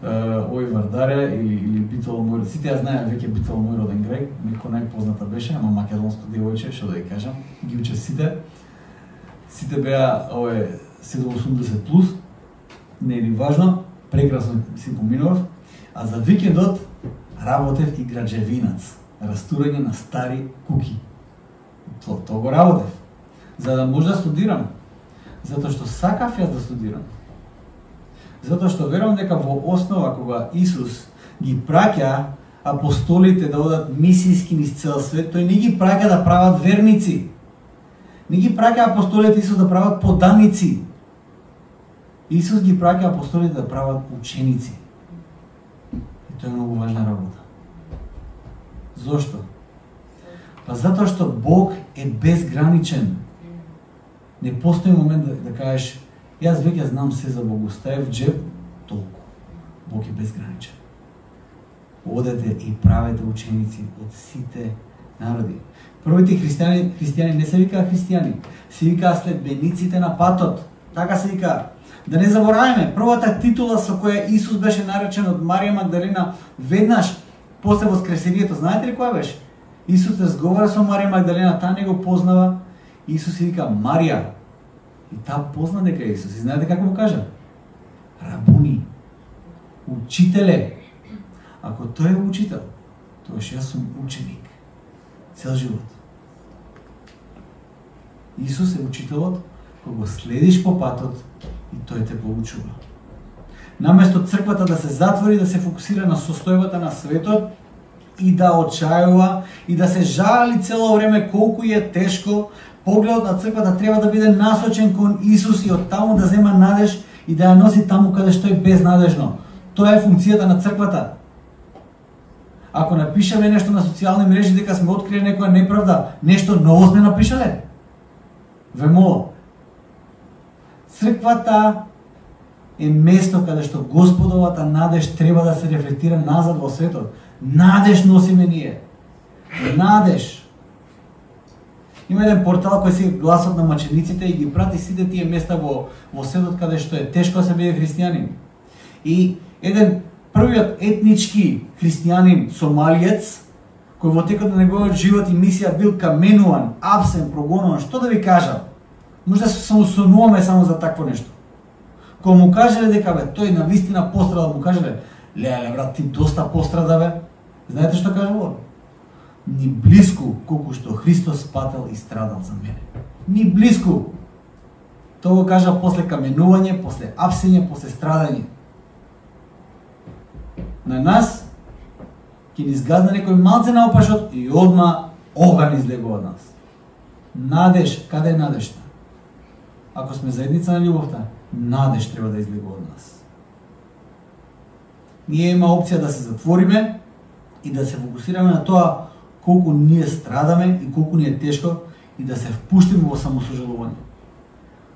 Ој Вардаре или, или Битола мој, сите ја знаеа веќе Битола мој роден греј, некој најпозната беше, ама македонско девојче, што да ја кажам, ги учев сите. Сите беа ове седум осумдесет плюс, не е ни важно, прекрасно си поминував, а за викендот работев и граđевинац, растурање на стари куки. То, то го работев, за да може да студирам, затоа што сакав јас да студирам. Затоа што верувам дека во основа кога Исус ги праќа апостолите да одат мисијски низ цел свет, тој не ги праќа да прават верници. Не ги праќа апостолите Исус да прават поданици. Исус ги праќа апостолите да прават ученици. И тоа е многу важна работа. Зошто? Па затоа што Бог е безграничен. Не постои момент да, да кажеш, јас веќе знам се за Бог, ставев джеб, толку. Бог е безграничен. Одете и правете ученици од сите народи. Првите христијани, христијани не се викаа христијани, се викаа следбениците на патот. Така се викаа. Да не забораваме, првата титула со која Исус беше наречен од Марија Магдалина веднаш после воскресението, знаете ли која беше? Исус разговара со Марија Магдалина, таа не го познава. Исус си вика Марија. И таа позна дека е Исус. И знаете како му кажа? Рабуни. Учителе. Ако тој е учител, тоаш јас сум ученик. Цел живот. Исус е учителот, кога го следиш по патот и тој те поучува. Наместо црквата да се затвори, да се фокусира на состојбата на светот и да очајува и да се жали цело време колку е тешко, погледот на црквата треба да биде насочен кон Исус и од таму да зема надеж и да ја носи таму каде што е безнадежно. Тоа е функцијата на црквата. Ако напишеме нешто на социјални мрежи дека сме открили некоја неправда, нешто ново сме напишале? Ве молам. Црквата е место каде што Господовата надеж треба да се рефлектира назад во светот. Надеж носиме ние. Надеж. Има еден портал кој се гласот на мачениците и ги прати сите тие места во, во светот каде што е тешко да се биде христијанин. И еден првиот етнички христијанин сомалиец, кој во текот на неговиот живот и мисија бил каменуван, апсен, прогонуван, што да ви кажам? Може да се самосонуваме само за такво нешто. Кога му кажеле дека бе, тој на вистина пострада, му кажеле, леле брат, ти доста пострада бе. Знаете што кажало? Ни блиску колку што Христос пател и страдал за мене. Ни блиску. Тоа го кажа после каменување, после апсење, после страдање. На нас ќе ни изгазна некој малце наопашот и одма оган излегува од нас. Надеж, каде е надежта? Ако сме заедница на љубовта, надеж треба да излегува од нас. Ние има опција да се затвориме и да се фокусираме на тоа колку ние страдаме и колку ни е тешко и да се впуштиме во самосожалување.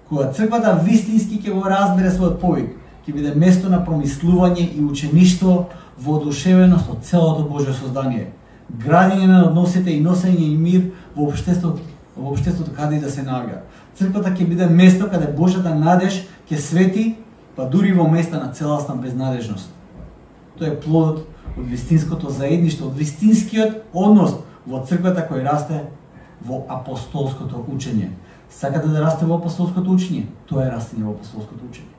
Кога црквата вистински ќе го разбере својот повик, ќе ќе биде место на промислување и учеништво во одушевеност од целото Божјо создание, градење на односите и носење и мир во општеството, во општеството каде и да се наоѓа. Црквата ќе биде место каде Божјата надеж ќе свети, па дури во места на целосна безнадежност. Тоа е плодот од вистинското заедништво, од вистинскиот однос во црквата кој расте во апостолското учење. Сакате да расте во апостолското учење? Тоа е растење во апостолското учење.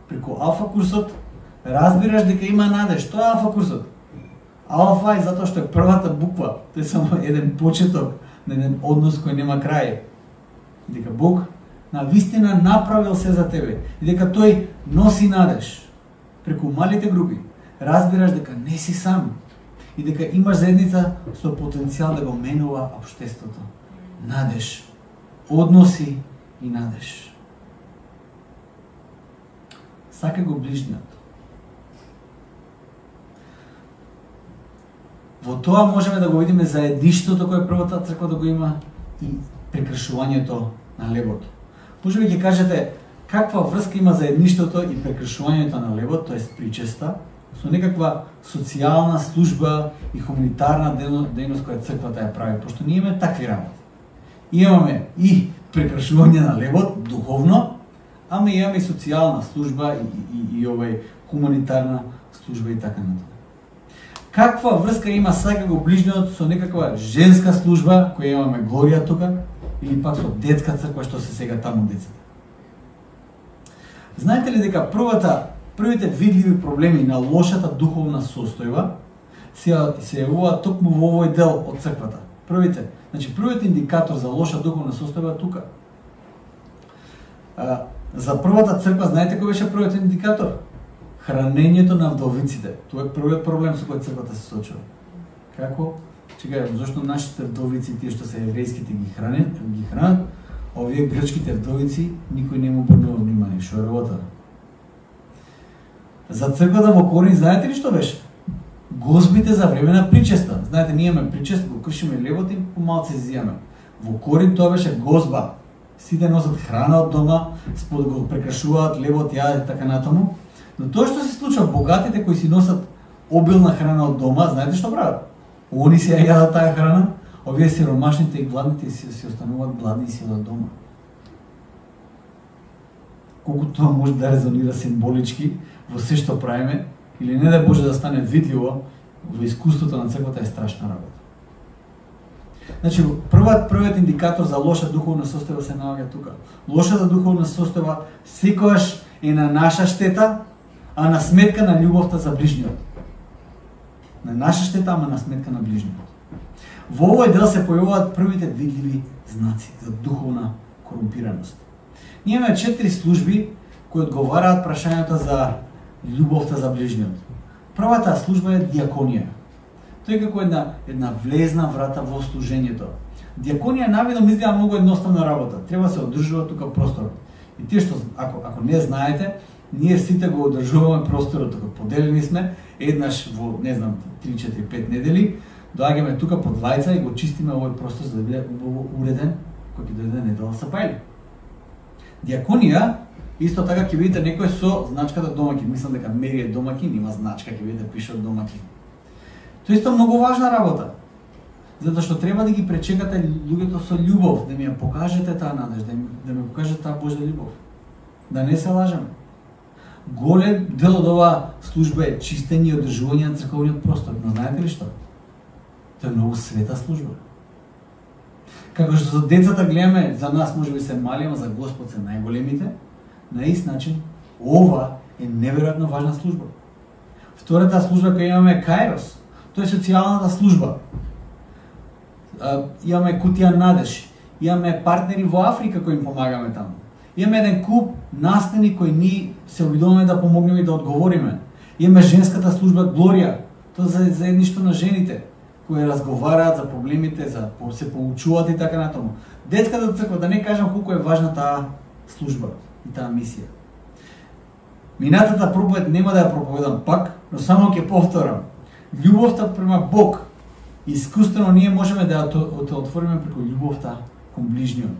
Преку алфа курсот разбираш дека има надеж. Тоа е алфа курсот. Алфа е затоа што е првата буква. Тоа е само еден почеток на еден однос кој нема крај. Дека Бог на вистина направил се за тебе и дека тој носи надеж. Преку малите групи разбираш дека не си сам и дека имаш заедница со потенцијал да го менува општеството. Надеж, односи и надеж. Сака го ближниот. Во тоа можеме да го видиме заедништвото кое првата црква да го има и прекршувањето на лебот. Може би ќе кажете каква врска има заедништвото и прекршувањето на лебот, тоа е причеста, со некаква социјална служба и хуманитарна дејност која црквата ја прави, пошто ние имаме такви работи. Имаме и прекршување на лебот духовно, ама имаме и социјална служба и, и, и, и овај хуманитарна служба и така натаму. Каква врска има сака го ближниот со некаква женска служба која имаме Глорија тука или пак со детска црква што се сега таму децата? Знаете ли дека првата првите видливи проблеми на лошата духовна состојба се се јавуваат токму во овој дел од црквата? Првите, значи првиот индикатор за лоша духовна состојба е тука. А, за првата црква знаете кој беше првиот индикатор? Хранењето на вдовиците. Тоа е првиот проблем со кој црквата се соочува. Како? Чекај, зошто нашите вдовици, тие што се еврејските ги хранат, ги хранат, а овие грчките вдовици никој не му обрнува внимание, што е работа. За црквата во Корин знаете ли што беше? Гозбите за време на причеста. Знаете, ние имаме причест, го кршиме лебот и помалце изјаме. Во Корин тоа беше гозба. Сите носат храна од дома, спод го прекршуваат лебот, јадат и така натаму. Но тоа што се случува, богатите кои си носат обилна храна од дома, знаете што прават? Они си ја јадат таа храна, овие сиромашните и гладните си, си остануваат гладни и си од дома. Колку тоа може да резонира символички во се што правиме, или не да Боже да стане видливо во искуството на црквата, е страшна работа. Значи, првиот првиот индикатор за лоша духовна состојба се наоѓа тука. Лошата духовна состојба секогаш е на наша штета, а на сметка на љубовта за ближниот. На наша штета, ама на сметка на ближниот. Во овој дел се појавуваат првите видливи знаци за духовна корумпираност. Ние имаме четири служби кои одговараат прашањето за љубовта за ближниот. Првата служба е диаконија. Тоа е како една една влезна врата во служењето. Диаконија навидом изгледа многу едноставна работа. Треба се одржува тука простор. И тие што ако ако не знаете, ние сите го одржуваме просторот тука. Поделени сме еднаш во, не знам, три, четири, пет недели, доаѓаме тука под двајца и го чистиме овој простор за да биде убаво уреден кој ќе дојде недела сапајли. Диаконија исто така ќе видите некој со значката домаќин. Мислам дека Мери е домаќин, има значка, ќе видите пише од домаќин. Тоа исто многу важна работа. Затоа што треба да ги пречекате луѓето со љубов, да ми ја покажете таа надеж, да ми, да ми покажете таа Божја љубов. Да не се лажеме. Голем дел од оваа служба е чистење и одржување на црковниот простор. Но знаете ли што? Тоа е многу света служба. Како што за децата гледаме, за нас може би се мали, ама за Господ се најголемите, на ист начин, ова е неверојатно важна служба. Втората служба која имаме е Каирос. Тоа е социјалната служба. Имаме кутија надеж, имаме партнери во Африка кои им помагаме таму. Имаме еден куп настани кои ние се обидуваме да помогнеме и да одговориме. Имаме женската служба Глорија, тоа за заедништво на жените кои разговараат за проблемите, за се поучуваат и така натаму. Детската црква, да не кажам колку е важна таа служба и таа мисија. Минатата проповед нема да ја проповедам пак, но само ќе повторам. Љубовта према Бог, искуствено ние можеме да ја отвориме преку љубовта кон ближниот.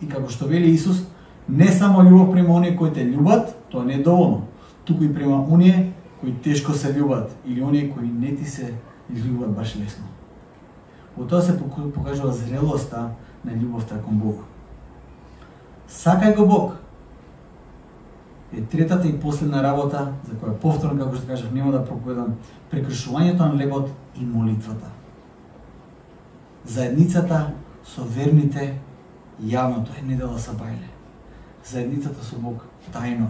И како што вели Исус, Не само љубов према оние кои те љубат, тоа не е доволно, туку и према оние кои тешко се љубат или оние кои не ти се љубат баш лесно. Во тоа се покажува зрелоста на љубовта кон Бог. Сакај го Бог е третата и последна работа, за која повторно, како што кажав, нема да проповедам, прекршувањето на лебот и молитвата. Заедницата со верните јавно, тоа е недела сабајле. Заедницата со Бог тајно,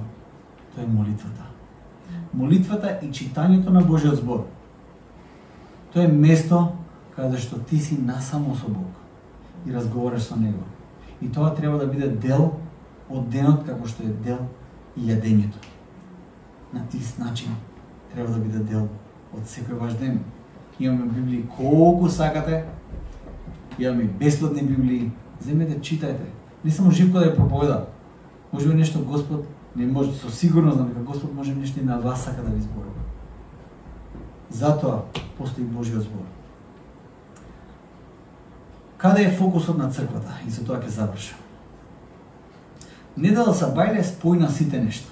тоа е молитвата. Молитвата и читањето на Божиот збор. Тоа е место каде што ти си насамо со Бог и разговараш со Него. И тоа треба да биде дел од денот, како што е дел и јадењето. На тист начин треба да биде дел од секој ваш ден. Имаме Библии колку сакате, имаме бесплатни Библии, земете, читајте. Не само Живко да ја проповеда. Може би нешто Господ не може, со сигурност дека Господ може нешто и на вас сака да ви зборува. Затоа постои Божиот збор. Каде е фокусот на црквата? И со тоа ќе завршам. Недела сабајле спојна сите нешта.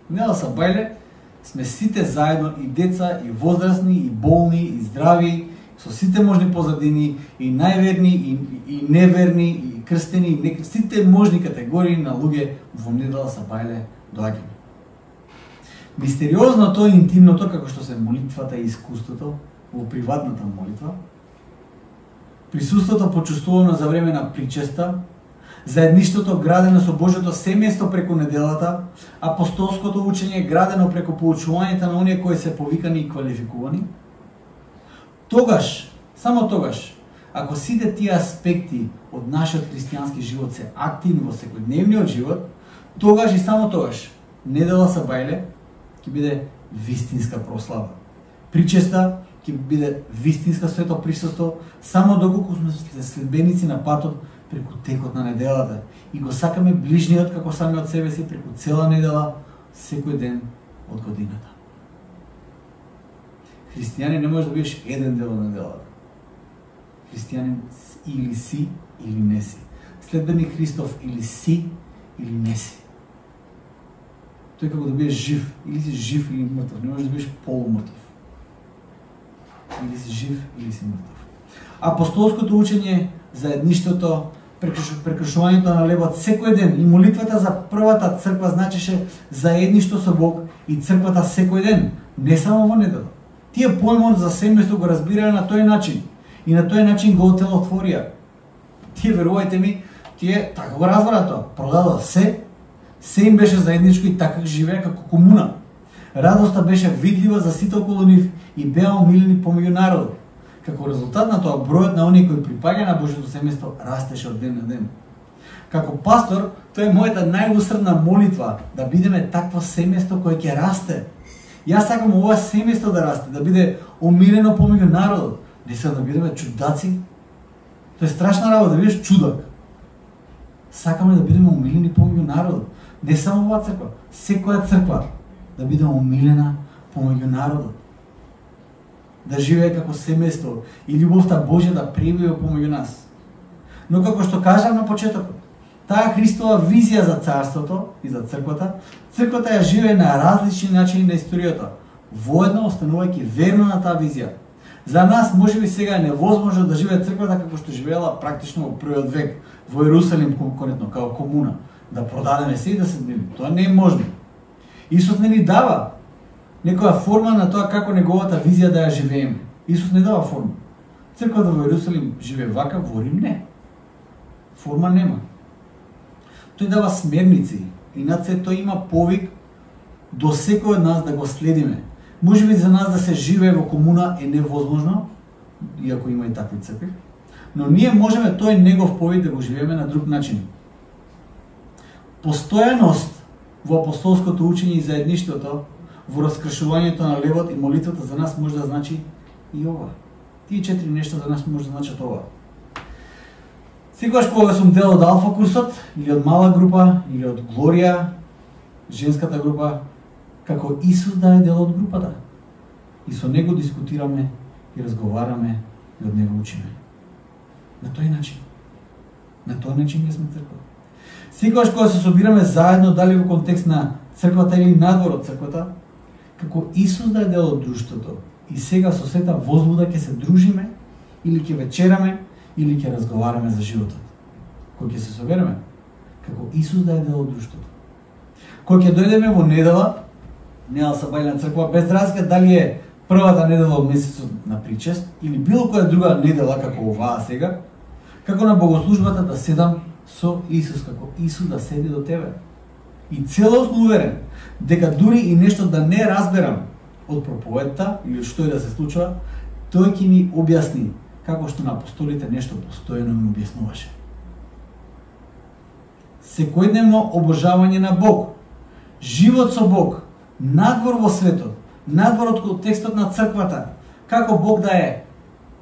Недела сабајле сме сите заедно, и деца, и возрастни, и болни, и здрави, со сите можни позадини, и најверни, и, и неверни, и крстени, и не, сите можни категории на луѓе во недела сабајле доаѓаме. Мистериозното и интимното, како што се молитвата и искуството во приватната молитва, присуството почувствувано за време на причеста, заедништвото градено со Божјото семејство преку неделата, апостолското учење градено преку поучувањето на оние кои се повикани и квалификувани, тогаш, само тогаш, ако сите тие аспекти од нашиот христијански живот се активни во секојдневниот живот, тогаш и само тогаш недела сабајле ќе биде вистинска прослава. Причеста ќе биде вистинска свето присуство, само доколку сме следбеници на патот преку текот на неделата и го сакаме ближниот како самиот себе си преку цела недела, секој ден од годината. Христијанин не може да бидеш еден дел од неделата. Христијанин или си, или не си. Следбеник Христов или си, или не си. Тој како да бидеш жив, или си жив или мртов, не можеш да бидеш полумртов. Или си жив, или си мртов. Апостолското учење, заедништвото, прекршувањето на лебот секој ден и молитвата за првата црква значеше заедништво со Бог и црквата секој ден, не само во недела. Тие појмот за семејство го разбираа на тој начин и на тој начин го отелотворија. Тие, верувајте ми, тие така го разбраа тоа, продадоа се, се им беше заедничко и така живеа како комуна. Радоста беше видлива за сите околу нив и беа омилени помеѓу народот. Како резултат на тоа, бројот на оние кои припаѓа на Божјото семејство растеше од ден на ден. Како пастор, тоа е мојата најусредна молитва, да бидеме такво семејство кое ќе расте. Јас сакам ова семејство да расте, да биде омилено помеѓу народот, не се да бидеме чудаци. Тоа е страшна работа, да бидеш чудак. Сакаме да бидеме омилени помеѓу народот, не само оваа црква, секоја црква да биде омилена помеѓу народот. Да живее како семејство и љубовта Божја да пребива помеѓу нас. Но како што кажав на почетокот, таа Христова визија за царството и за црквата, црквата ја живее на различни начини на историјата, воедно останувајќи верно на таа визија. За нас можеби сега е невозможно да живее црквата како што живеела практично во првиот век во Ерусалим конкретно како комуна, да продадеме се и да се дневни. Тоа не е можно. Исус не ни дава некоја форма на тоа како неговата визија да ја живееме. Исус не дава форма. Црквата во Ерусалим живее вака, во Рим не. Форма нема. Тој дава смерници и над се тој има повик до секој од нас да го следиме. Може би за нас да се живее во комуна е невозможно, иако има и такви цркви, но ние можеме тој негов повик да го живееме на друг начин. Постојаност во апостолското учење и заедништвото, во раскршувањето на левот и молитвата за нас може да значи и ова. Тие четири нешта за нас може да значат ова. Секогаш кога сум дел од Алфа курсот, или од мала група, или од Глорија, женската група, како Исус да е дел од групата. И со него дискутираме и разговараме и од него учиме. На тој начин. На тој начин ние сме црква. Секогаш кога се собираме заедно, дали во контекст на црквата или надвор од црквата, како Исус да е дел од друштвото, и сега со сета возбуда ќе се дружиме, или ќе вечераме, или ќе разговараме за животот. Кој ќе се собереме? Како Исус да е дел од друштвото. Кој ќе дојдеме во недела, недела сабајна црква, без разлика дали е првата недела од месецот на причест, или било која друга недела, како оваа сега, како на богослужбата да седам со Исус, како Исус да седи до тебе. И целосно уверен, дека дури и нешто да не разберам од проповедта, или што и да се случува, тој ќе ми објасни, како што на апостолите нешто постојано ми објаснуваше. Секојдневно обожавање на Бог, живот со Бог, надвор во светот, надвор од контекстот на црквата, како Бог да е.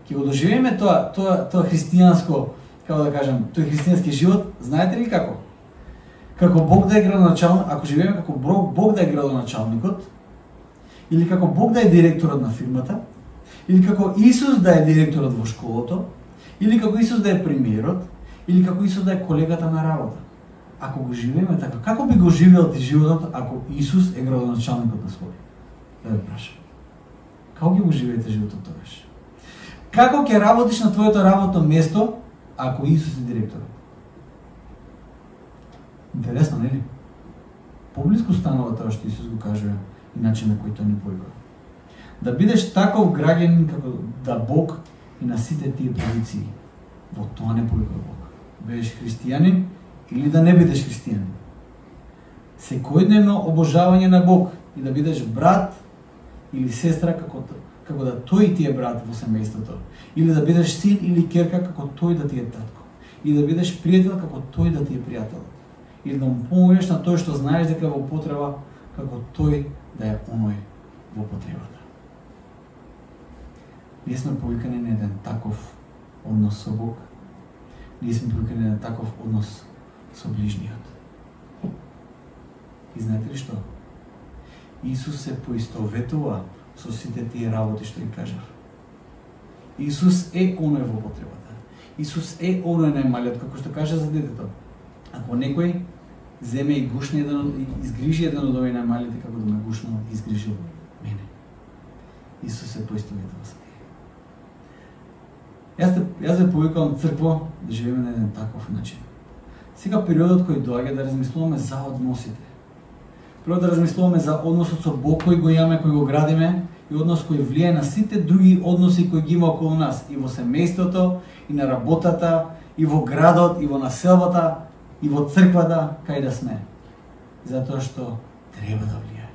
Ќе го доживееме тоа, тоа, тоа христијанско, како да кажам, тој христијански живот, знаете ли како? Како Бог да е градоначалник, ако живееме како Бог да е градоначалникот, или како Бог да е директорот на фирмата, или како Исус да е директорот во школото, или како Исус да е премиерот, или како Исус да е колегата на работа. Ако го живееме така, како би го живеел ти животот ако Исус е градоначалникот на свој? Да ве прашам. Како ќе го живеете животот тогаш? Како ќе работиш на твоето работно место ако Исус е директорот? Интересно, нели? Поблиску станува тоа што Исус го кажува и начин на кој тој ни повикува. Да бидеш таков граѓанин како да Бог и на сите тие позиции. Во тоа не повикува Бог. Бидеш христијанин или да не бидеш христијанин. Секојдневно обожавање на Бог и да бидеш брат или сестра како како да тој ти е брат во семејството, или да бидеш син или ќерка како тој да ти е татко, и да бидеш пријател како тој да ти е пријател, или да му помогнеш на тој што знаеш дека е во потреба како тој да е оној во потребата. Ние сме повикани на еден таков однос со Бог. Ние сме повикани на таков однос со ближниот. И знаете ли што? Исус се поистоветува со сите тие работи што ги кажав. Исус е оној во потребата. Исус е оној најмалиот, како што кажа за детето. Ако некој земе и гушне еден, изгрижи еден од овој најмалите, како да ме гушно изгрижил мене. Исус се поистоветува со тие. Јас, јас ве повикувам црква да живееме на еден таков начин. Сега периодот кој доаѓа да размислуваме за односите. Прво да размислуваме за односот со Бог кој го имаме, кој го градиме, и однос кој влијае на сите други односи кои ги има околу нас, и во семејството, и на работата, и во градот, и во населбата, и во црквата, кај да сме. Затоа што треба да влијае.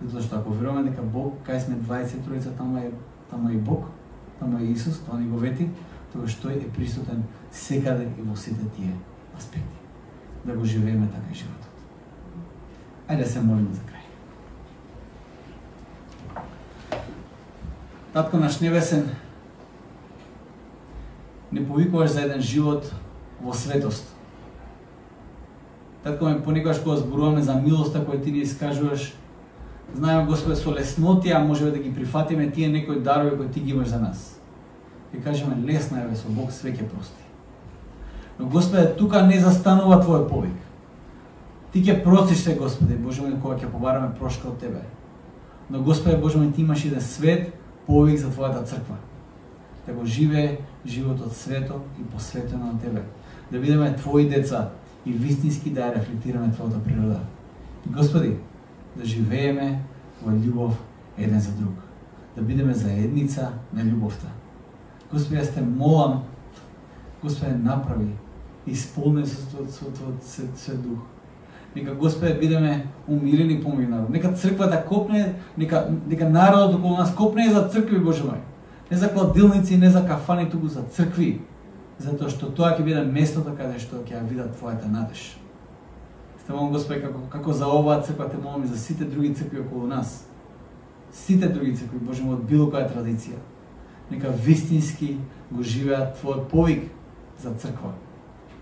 Затоа што ако веруваме дека Бог, кај сме дваесет и тројца, таму е, таму е и Бог, таму е Исус, тоа ни го вети, тогаш тој е присутен секаде и во сите тие аспекти. Да го живееме така и животот. Ајде да се молиме за крај. Татко наш небесен, не повикуваш за еден живот во светост. Татко ме понекогаш кога зборуваме за милоста која ти ни искажуваш, знаеме Господе со леснотија можеме да ги прифатиме тие некои дарови кои ти ги имаш за нас. И кажеме лесна е, со Бог све ќе прости. Но Господе, тука не застанува твој повик. Ти ќе простиш се, Господе, Боже мој, кога ќе побараме прошка од тебе. Но Господе, Боже мој, ти имаш еден свет повик за твојата црква. Да го живее животот свето и посветено на тебе. Да бидеме твои деца и вистински да ја рефлектираме твојата природа. И Господи, да живееме во љубов еден за друг. Да бидеме заедница на љубовта. Господи, јас те молам, Господи, направи, исполни со Твојот свет дух. Нека, Господи, бидеме умирени помеѓу народ. Нека црквата копне, нека, нека народот околу нас копне за цркви, Боже мој. Не за кладилници, не за кафани, туку за цркви. Затоа што тоа ќе биде местото каде што ќе ја видат Твојата надеж. Те молам, Господи, како, како за оваа црква, те молам и за сите други цркви околу нас. Сите други цркви, Боже мој, од било која традиција. Нека вистински го живеат Твојот повик за црква.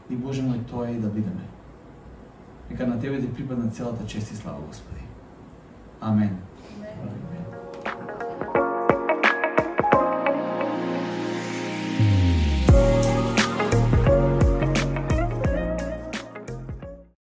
И Боже мој, тоа е и да бидеме. Нека на Тебе ти припадна целата чест и слава, Господи. Амен. Амен.